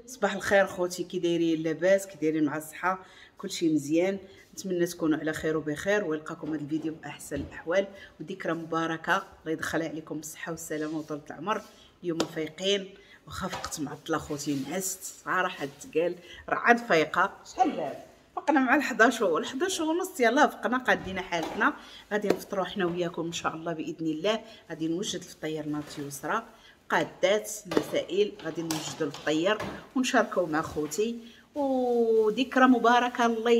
صباح الخير خوتي، كي دايرين؟ لاباس؟ كي دايرين مع الصحة؟ كلشي مزيان؟ نتمنى تكونوا على خير وبخير، ويلقاكم هذا الفيديو باحسن الاحوال وذكرى مباركة الله يدخلها عليكم بالصحة والسلامة وطولة العمر. اليوم فايقين واخا فقت معطلة خوتي، نعست صراحة تقال راه عاد فايقه. شحال دابا؟ فقنا مع 11 11 ونص، يلاه فقنا قادينا حالتنا. غادي نفطروا حنا وياكم ان شاء الله باذن الله. غادي نوجد الفطير ناتي يسرى قادات المسائل، غادي نوجدوا الفطير ونشاركوا مع خوتي. وذكرى مباركة الله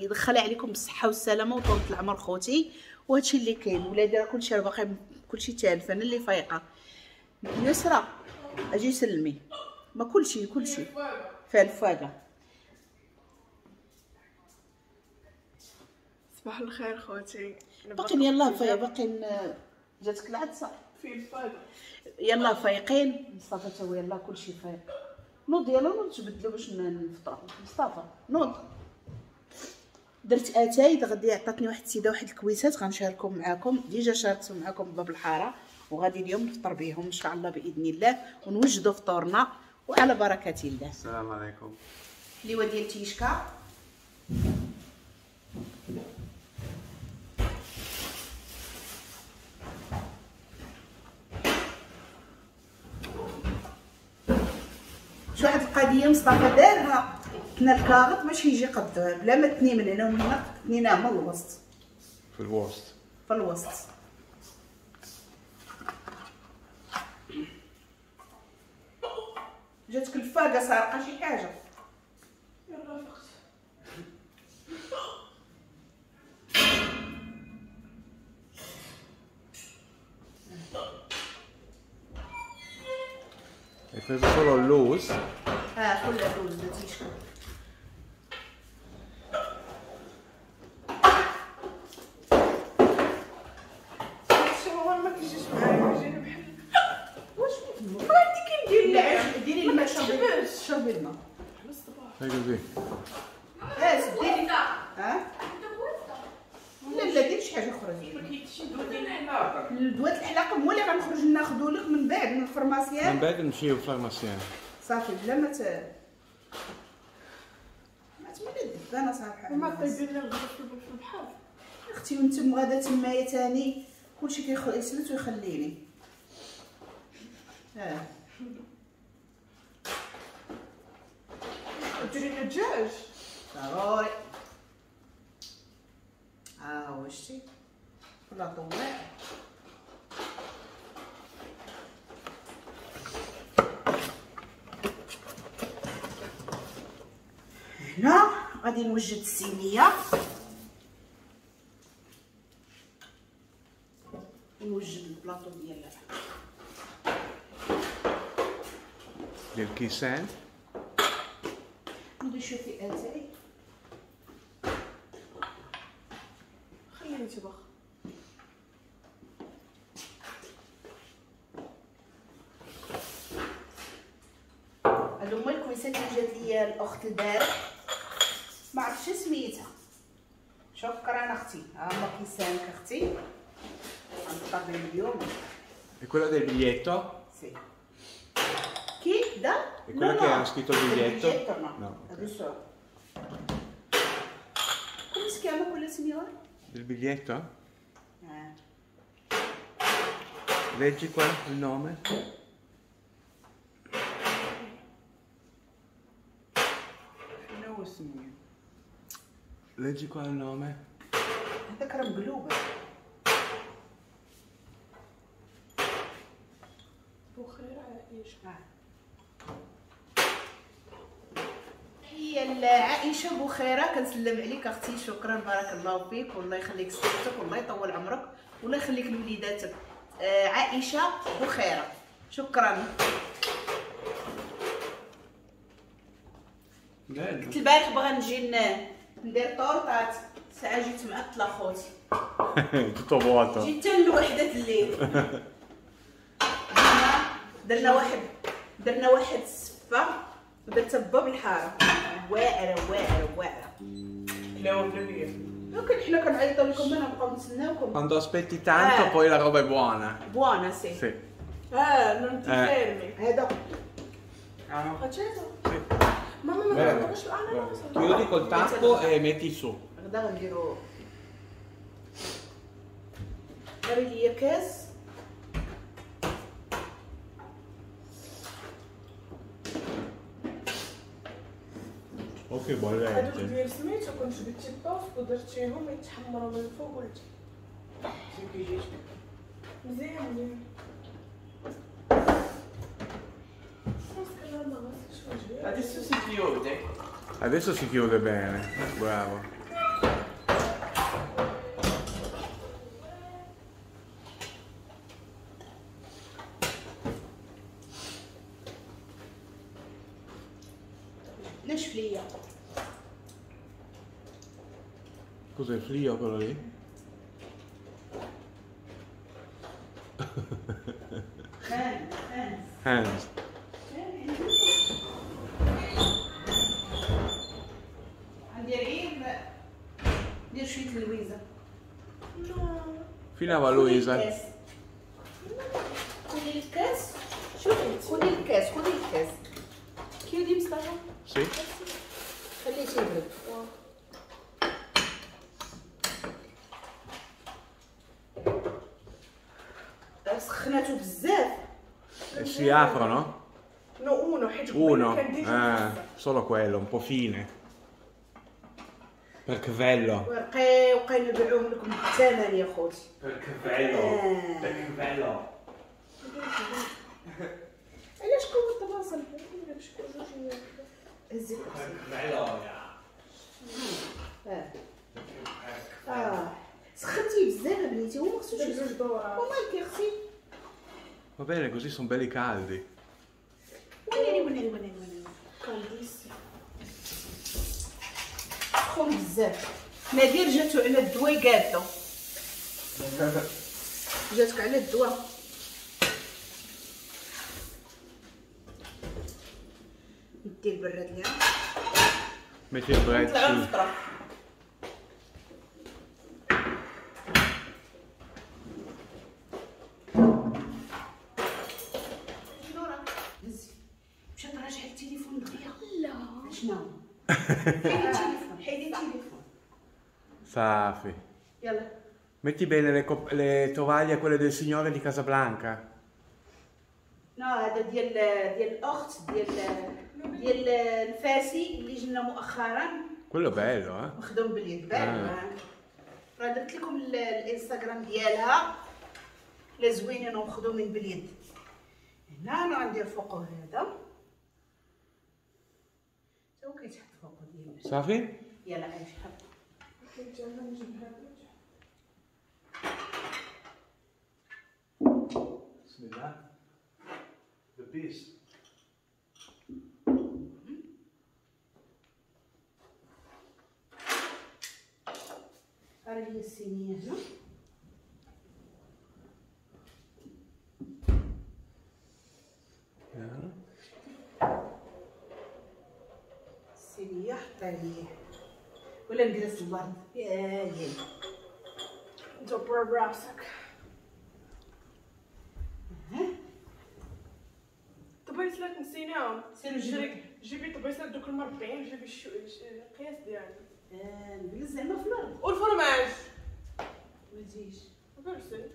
يدخلها عليكم بالصحة والسلامة وطولة العمر خوتي. وهادشي اللي كاين، ولادي راه كلشي راه باقي كلشي تالف، انا اللي فايقه. يسرى اجي سلمي، ما كلشي كلشي فيها الفاقة. صباح الخير خوتي، باقيين يلاه فايقه، باقيين جاتك العدسة في الفاقة، يلاه فايقين. مصطفى تا هو يلاه كلشي فايق. نوض يلا نوض تبدلو باش نفطرو. مصطفى نوض. درت اتاي غادي عطاتني واحد السيدة واحد الكويسات غنشاركهم معاكم، déjà شاركتهم معاكم باب الحارة، وغادي اليوم نفطر بهم ان شاء الله باذن الله ونوجدوا فطورنا وعلى بركة الله. السلام عليكم. ليوا ديال تيشكا. شو واحد القضية مصطفى دارها، تنا الكاغط باش يجي قد بلا ما تني من هنا ومن هنا، تنيناه من الوسط. في الوسط في الوسط. جاتك الفاقة سارقه شي حاجة؟ يلا فقت. Hai preso solo اللوز؟ كل اللوز درتي. شي هو ما كيجيش معايا، كيجيني بحال واش ما عرفتي كندير. لا ديري الماء، شربي شربي الماء على الصباح. Fai così. سديري. ها لا لا ديري شي حاجة اخرى. ما كاينش دواء ديال الحلاقة. دواء الحلاقة هو اللي غنخرج ناخذو لك من بعد من ال pharmacien. من بعد نمشيو لل pharmacien صافي بلا ما ما تملي الدبانه صراحة. ما طيبين لنا الغدا في البحر اختي، وانتم غادا تمايا تاني كلشي كيسلت ويخليني. ديري لنا الدجاج ضروري. ها هو شتي ولا طوع. هنا غادي نوجد الصينية ونوجد البلاطو ديال الكيسان. نوضي شوفي اتاي، خليني تبخ. هادو هما الكويسات اللي جات ليا الاخت البارح، ما عرفتش سميتها. شكرا اختي، ها هما كيسانك اختي، غنفطر بهم اليوم. E quella del biglietto? Sì. Chi da? È quella che ha scritto il biglietto? Il biglietto no. No, ok. Adesso. Come si chiama quella signora? Del biglietto? Leggi qua il nome. شنو سميه؟ Leggi qua il nome. هذاك راه مقلوبة. بخير عائشة. هي عائشة بخيرة، كنسلم عليك اختي، شكرا بارك الله فيك، والله يخليك صحتك والله يطول عمرك والله يخليك لوليداتك. عائشة بخيرة، شكرا. كنت البارح بغا نجي ندير طورطات، ساعة جيت معطلة خوتي. Tutto vuoto. جيت حتى لوحدة الليل. درنا واحد السفة ودرتها باب الحارة، واعرة واعرة واعرة. لا بلا بيا. لكن حنا كنعيطوا لكم انا نبقاو نتسناوكم. Quando aspetti tanto poi la roba è buona. Buona sì. Sì. Non ti fermi. هذا Ah no. Acceso? Sì. Mamma mia, Bene. ma ah, no, no, Chiudi col tappo e metti su. غدا غنديرو داري ليا كاس. Ok, هادوك bollente. ديال سميتو كنت جبتي الطوست ودرتيهم يتحمروا من الفوق والتحت. مزيان مزيان. راسك لا ما غسلتش وجهي. Adesso si chiude. Adesso si chiude bene, bravo. نشف ليا. Cos'è il frio quello lì? Hands. غندير غير ندير شويه اللويزه. Fino a Luisa. خذي الكاس. شوفي خذي الكاس، خذي الكاس. Chiudi مصطفى. Sì. خليه تيبرد. سخناتو بزاف. E si aprono? No uno حيت قبيله Uno. كان déjà Ah, solo quello, un po' fine. Perché bello. ورقي وقي نبيعوهم لكم بالثمن يا خوتي. Perché bello. Perché bello. علاش كون الطباصل باش يكون جوج. هزي الكرسي. Bello. اه سخنتي بزاف بنيتي وما خصوش جوج دورات. ومالك يا اختي؟ Va bene, così sono belli caldi. وناري وناري وناري وناري. caldissimo. سخون بزاف. نادير جاتو على الدواء قادو. جاتك على الدواء. ندي البراد ليها. Metti il bread نطلعو su. نفطرو. نورا هزي. مشات راجعه التليفون دغيا. لا شنو؟ حيدي التليفون، حيدي التليفون. Safi. يلا. Metti bene le tovaglie, quelle del signore di Casablanca. No هذا ديال الاخت ديال الفاسي اللي جينا مؤخرا. Quello è bello, eh. مخدوم باليد بان. راه درت لكم الانستغرام ديالها لا زوينين ومخدومين باليد. هنا انا غندير فوقو هذا تا هو كيتحط فوقو ديال. صافي؟ يلا عايش حط. كنت انا نجيب هذا. بسم الله. The beast. راه لي الصينيه هنا. الصينيه حطها لي ولا نجلس الارض. يا يا دبر براسك. طبيصلات نسيناهم. سيرو جري جيبي طبيصلات دوك المربعين، جيبي القياس ديالنا. نجلس زعما في الارض. والفرماج ما تجيش. جلسي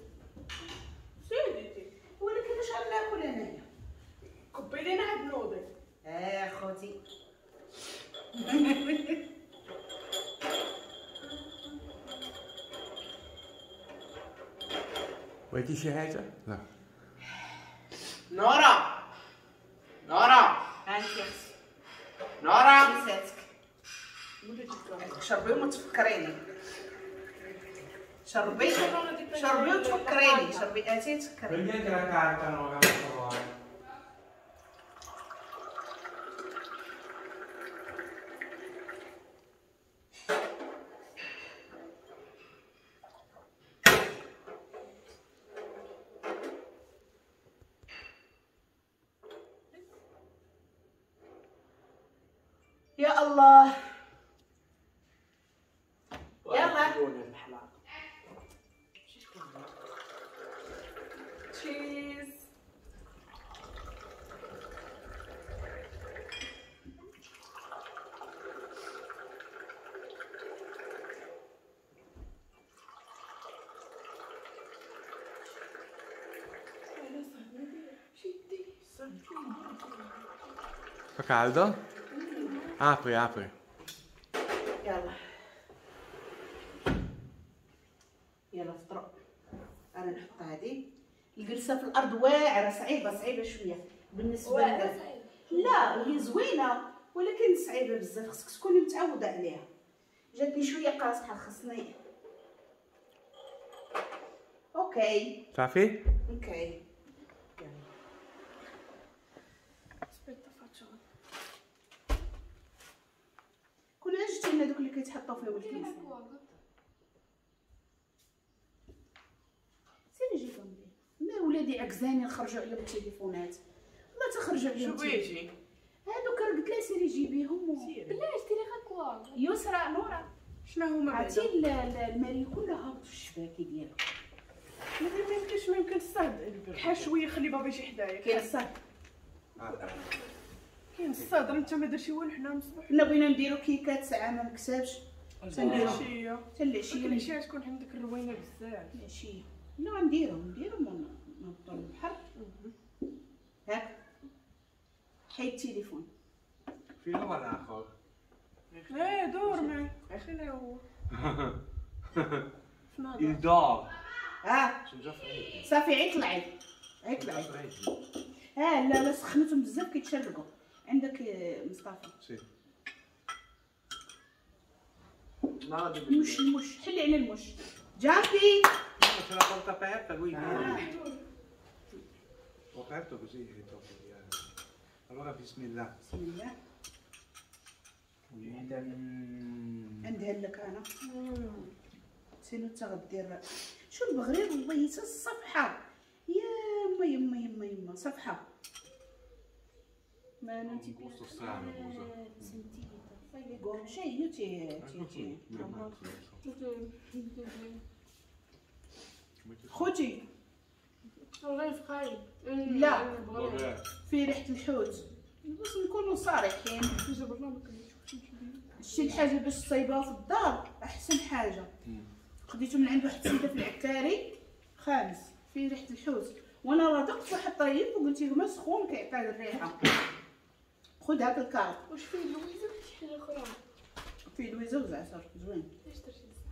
سيدتي. ولكن واش غناكل انايا؟ كبي لينا عاد نوضي. خوتي. بغيتي شي حاجة؟ لا. نورا نورا هانتي اختي. نورا نساتك. شربي وما تفكريني. شربي شربي وتفكريني. شربي اتي تفكريني. Prendi anche la carta, Nora, per favore. يا الله. يلا. Cheese. Fa caldo? Apri, apri. يلا يلا فطروا. انا نحط هذه الجلسة في الارض واعرة، صعيبة صعيبة شوية بالنسبة لك. لا هي زوينة ولكن صعيبة بزاف، خصك تكوني متعوده عليها. جاتني شوية قاصحة، خصني. OK صافي. OK يلا. كون عجبتي لنا دوك اللي كيتحطوا فيهم الكيس. سيري جيبهم لي. ما ولادي عكزاني نخرجوا عليهم التليفونات. ما تخرجوا عليهم. شو بغيتي؟ هادوك راه قلت لها سيري جيبيهم بلاش ديري غير كوا. يسرى نورا شنو هما؟ عرفتي الماري كلها هبط في الشباكي ديالها. ما يمكنش، ما يمكن الصهد بحال شوية. خلي بابا يجي حدايا. كاين الصهد، كاين الصهد. انت ما درتي والو. حنا مصباح حنا بغينا نديرو كيكات ساعة ما مكسبش. حتى العشية، حتى العشية. العشية تكون عندك الروينه بزاف. العشية لا نديرو نهبطو للبحر. هاك حيد التليفون. فين هو الاخر؟ ايه دور معي. فين هو؟ Il dort. صافي عيط العيد، عيط العيد. لا لا سخنتهم بزاف كيتشرقوا. عندك مصطفى. Sì. المش المش حلي على المش. جامبي. C'è la porta aperta, lui viene. Ho aperto così è troppo via. Allora bismillah. بسم الله. عندها لك انا. سينو تا غدير شو البغرير والله حتى الصفحة. يا ما يما يما يما صفحة. ما non ti gusto strano cosa. Fai le gocce, io ti ti خوتي غير خايب. لا في ريحه الحوت. باش نكونوا صريحين، شتي الحاجة باش تصايبها في الدار احسن حاجة. خديته من عند واحد السيدة في العكاري خالص، فيه ريحه الحوت. وانا راه دقت واحد طيب وقلت لهم سخون كيعطي الريحة. خذ هاك الكارت. واش فيه لويزه ولا شي حاجة اخرى؟ فيه لويزه وزعتر زوين. علاش درتي الزعتر؟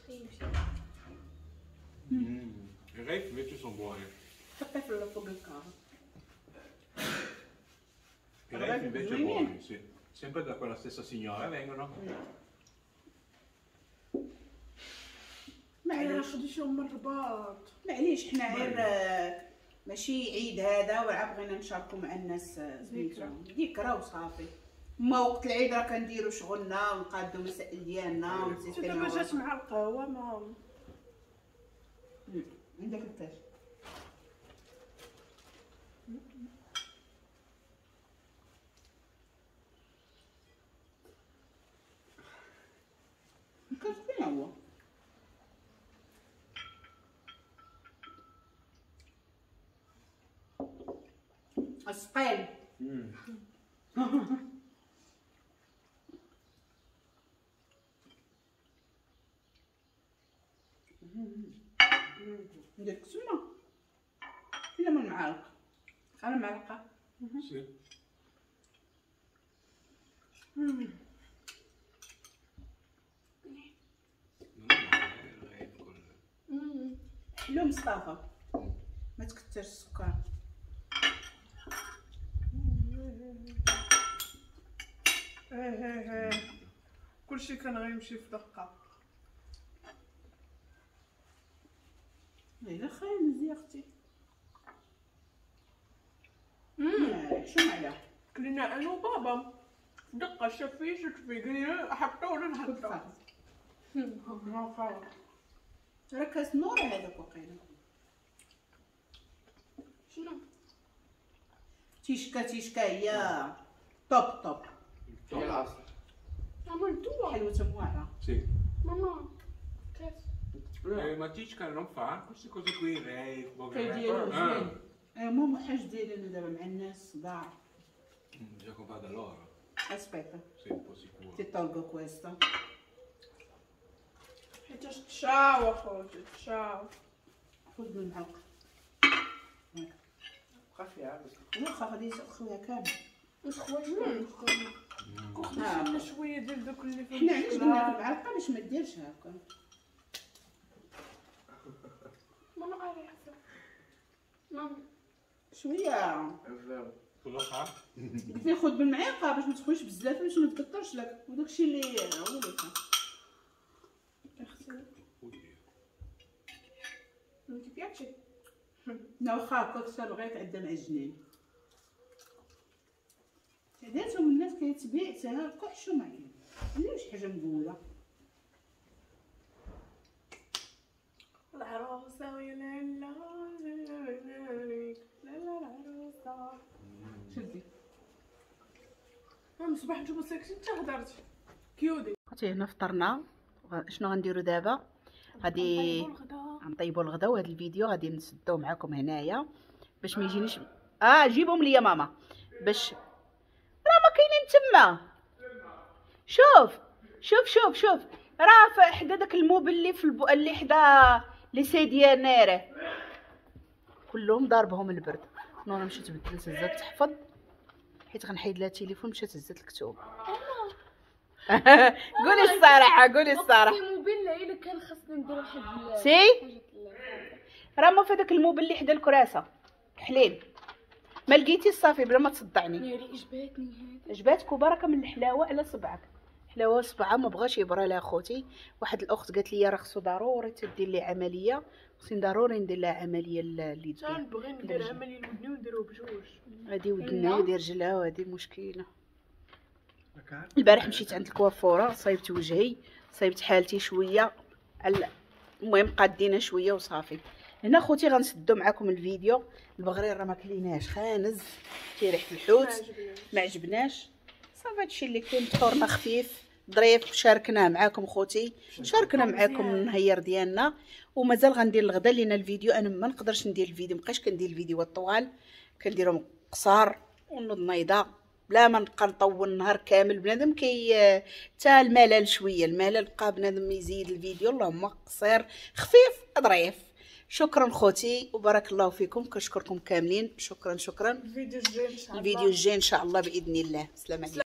خيب شي. I rate invece sono buoni. حطي في فوق الكارت. I rate invece buoni, sì. Sempre da quella stessa signora vengono. معليش خديتهم من الرباط. معليش حنا غير ماشي عيد هذا وعا بغينا نشاركو مع الناس سميتو ذكرى وصافي. ما وقت العيد راه كنديرو شغلنا ونقادو المسائل ديالنا ونسيتو. دابا جات مع القهوة ما عندك الكاش. الكاش فين هو؟ السقيل. ندير كسمه فينا من المعالق. انا معلقه. Sì. حلو مصطفى ما تكثرش السكر. ايه كلشي كان غيمشي في دقه. الا خايب مزيان اختي. شو معنا؟ كلنا انا وبابا في دقه. شاف فيه شفت فيه قال لي حطو ولا نحطو. راه كاس نور هذاك وقيله. شنو؟ تيشكا تيشكا هي توب توب. عملتوها حلوة موعره. Sì. ماما كاس. Ma Cicca non fa queste cose qui, lei. Che dire? ماما حاج ديالنا دابا مع الناس صداع. Bisogna comprare da loro. Aspetta. Sei un po' sicuro. Ti tolgo questo. حيتاش تشاو اخوتي تشاو. خذ من الحلقة. خفيها بس. واخا غادي خويا كامل. واش خويا؟ خدينا شوية ديال دوك اللي حنا علاش درنا المعلقة باش ما ديرش هكا. ماما قاري حسن. ماما شوية قلت لي خذ بالمعلقه باش ما تخويش بزاف باش ما تكثرش لك وداكشي اللي هو اللي كان. Non ti piace? لا واخا هكاك حتى بغيت عندها معجنين. عاداتهم الناس كيتبيع حتى هكا حشومه عليهم. لا شي حاجة مقوله. العروسة ويا لالا لالا العروسة. شدي. من الصباح نتوما ساكتين حتى هضرت. كيودي. خوتي هنا فطرنا. شنو غنديرو دابا؟ غادي غنطيبوا الغدا، وهذا الفيديو غادي نسدوه معكم هنايا باش ما يجينيش. جيبهم ليا ماما باش راه ما كاينين تما. شوف شوف شوف شوف راه حدا داك ال meuble اللي في اللي حدا les sedie nere كلهم ضاربهم البرد. نورا مشات بدلت هزات تحفظ حيت غنحيد لها التليفون، مشات هزات الكتب. قولي الصراحة قولي الصراحة. meuble الا كان خاصني ندير واحد si راه ما في داك ال meuble اللي حدا الكراسة حليل ما لقيتي صافي بلا ما تصدعني. ناري عجباتني هذه. عجباتك وبركة من الحلاوة على صبعك. حلاوة صبعه ما بغاش يبرى لها خوتي. واحد الاخت قالت لي راه خصو ضروري تدير لي عملية، خصني ضروري ندير لها عملية اللي دير. نبغي ندير عملية لودني ونديرو بجوج. هادي ودنا ودي رجلها وهادي مشكلة. البارح مشيت عند الكوافوره صايبت وجهي، صايبت حالتي شوية، المهم قادينا شوية وصافي. هنا خوتي غنسدو معكم الفيديو. البغرير راه ما كليناش، خانز تيريح الحوت ما عجبناش. صافي هادشي اللي كاين، فطورنا خفيف ظريف، شاركناه معاكم خوتي، شاركنا معاكم النهير ديالنا. ومازال غندير الغدا لان الفيديو انا ما نقدرش ندير الفيديو، مابقيتش كندير الفيديوهات الطوال، كنديرهم قصار ونوض نايضه بلا ما نبقى نطول النهار كامل. بنادم كي حتى الملل شوية، الملل بقى بنادم يزيد الفيديو. اللهم قصير خفيف ظريف. شكرا خوتي وبارك الله فيكم، كنشكركم كاملين. شكرا شكرا. الفيديو الجاي ان شاء الله، الفيديو الجاي ان شاء الله باذن الله. سلام عليكم.